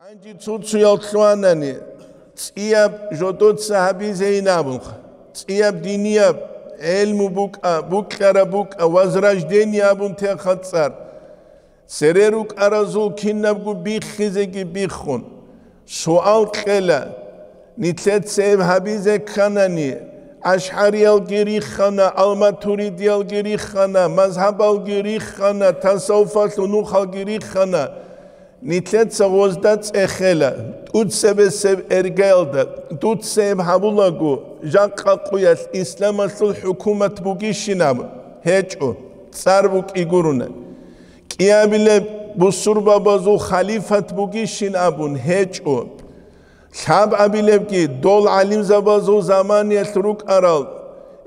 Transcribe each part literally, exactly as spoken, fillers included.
Гьанже цо-цоял лъугьанани, цӀияб жодоца гьабизейин абунха, цӀияб динияб гӀелму букӀа, букьараб букӀа, возрождение абун техъа цӀар. Цере рукӀаразул кинабго биххизеги биххун, суал кьела, нилъеца гьеб гьабизе кканани, ашгӀариялги риххана, алматуридиялги риххана, мазгьабалги риххана, тасаввуфалъул нухалги риххана, нилъеца гъозда цӀехела, тӀуцебесеб эргаялда, дуца гьеб гьабулаго, жакъа къуялъ исламалъул хӀукумат бугищин абун? ГьечӀо, цӀар букӀи гуруна. КӀиабилеб бусурбабазул халифат бугищин абун? ГьечӀо. Лъабабилебги дол гӀалимзабазул заманиялъ рукӀарал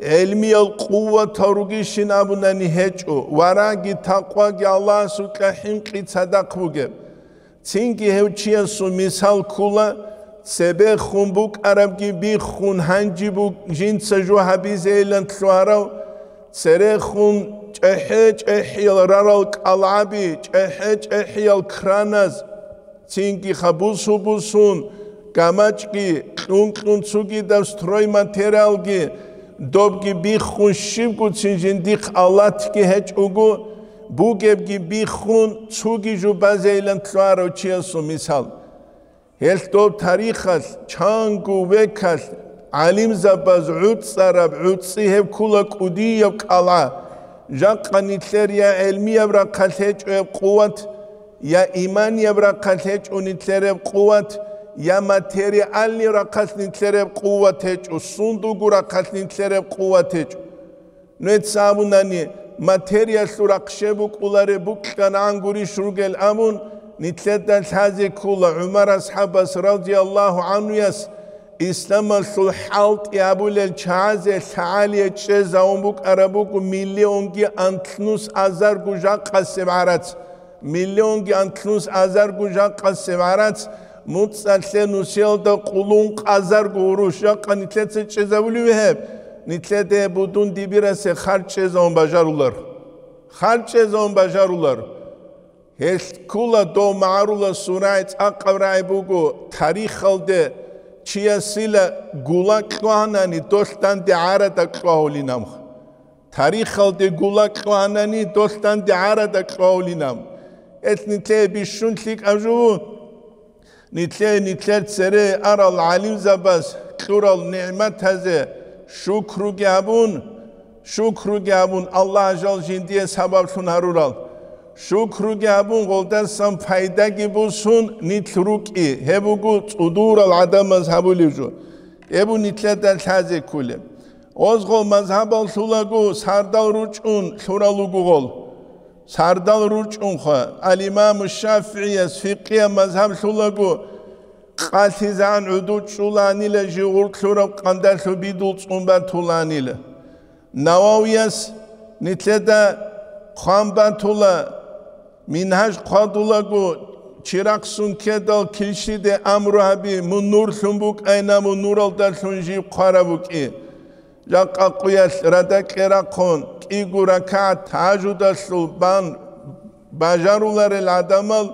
гӀелмиял къуватал ругищин абунани? ГьечӀо. Варагьги такъваги Аллагьасукьа хӀинкъи цадахъ бугеб. Цинги гьев чиясул мисал ккула, цебехун букӀарабги биххун, гьанже буг-, жинца жо гьабизейилан лъугьарав, церехун чӀехӀе-чӀехӀиял рарал кӀалгӀаби, чӀехӀе-чӀехӀиял краназ, цинги хабусу-бусун, гамачӀги кьун-кьун цугидаб стройматериалги, добги биххун щибгуцин жиндихъ алатги гьечӀого, бугебги биххун цуги жубазейилан лъугьарав чиясул мисал. Гьелъ доб тарихалъ, чанго векалъ гӀалимзабаз гӀуцӀараб гӀуцӀи гьеб ккула кӀудияб кӀалгӀа. Жакъа нилъер я гӀелмияб рахъалъ гьечӀо гьеб къуват, я иманияб рахъалъ гьечӀо нилъер гьеб къуват, я материальный рахъалъ нилъер гьеб къуват гьечӀо, сундулго рахъалъ нилъер гьеб къуват гьечӀо. Нуеца абунани, материялъул рахъ щеб букӀулареб букьанан гурищ ругел абун, нилъеда лъазе ккола. ГӀумар асхӀабас, радияллагьу гӀанхуяс, исламалъул хӀалтӀи абулел чагӀазе лъагӀалие чӀезавун букӀараб буго миллионги анлънус азарго жакъасеб гӀарац. Миллионги анлънус азарго жакъасеб гӀарац, муцӀалъе нусиялда къулун къазарго гъурущ жакъа нилъеца чӀезабулев гьеб, нилъеде будун дибирасе харчӀезавун бажарулар. ХарчӀезавун бажарулар. Гьелъ ккула дов магӀарулас сурай цӀакъаб рагӀи буго, тарихалде чиясила гула кьвагьанани, долъ данде гӀарада кьвагьулин абха. Тарихалде гула кьвагьанани, долъ данде гӀарада кьвагьулин аб. Гьелъ нилъее бищун лъикӀаб жо, нилъее нилъер цере арал гӀалимзабаз кьурал нигӀматазе шукруги гьабун, шукруги гьабун, Аллагь жал жиндие сабаблъун гьарурал. Шукруги гьабун, гъолдасан пайдаги бусун нилъ рукӀи, гьеб буго цӀудурал гӀадамаз гьабулев жо. Гьеб нилъеда лъазе кколеб. Гъоз гъол мазгьабал лъулаго сардал ручӀун лъурал руго гъол. Сардал ручӀунха, ал-Имаму ШафигӀияс фикъгьияб мазгьаб лъулаго, къалъизегӀан гӀуду чӀуланила жигъур лъураб къандалъу бидул цӀун батуланила. Нававияс нилъеда хъван батула, Мингьаж хъвадулаго, чирахъ сун ккедал килщиде амру гьаби, мун нурлъун букӀайна, мун нуралдалъун жиб хъвараб букӀи. Жакъа къуялъ радакье рахъун, кӀиго ракагӀат тагьажудалъул бан бажаруларел гӀадамал,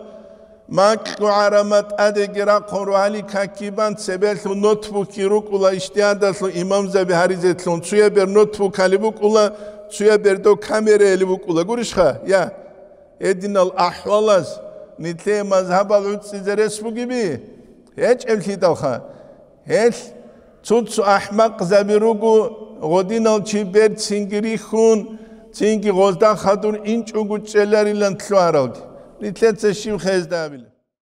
макьу гӀарама тӀадеги рахъун, рогьалил каки бан, цебелъун нотбукки рукӀула, иштиадалъун имамзаби гьаризелъун, цуябер нотбукали букӀула, цуябер дов камераяли букӀула. Гурищха? Я. Гьединал ахӀвалаз нилъее мазгьабал гӀуцӀизе рес бугеби? ГьечӀеблъидалха. Гьелъ цо-цо ахӀмакъзаби руго, гъодинал чи берцинги рихьун, цинги гъозда хадур инчӀого чӀеларилан лъугьаралги. Нилъеца щиб хезда абила?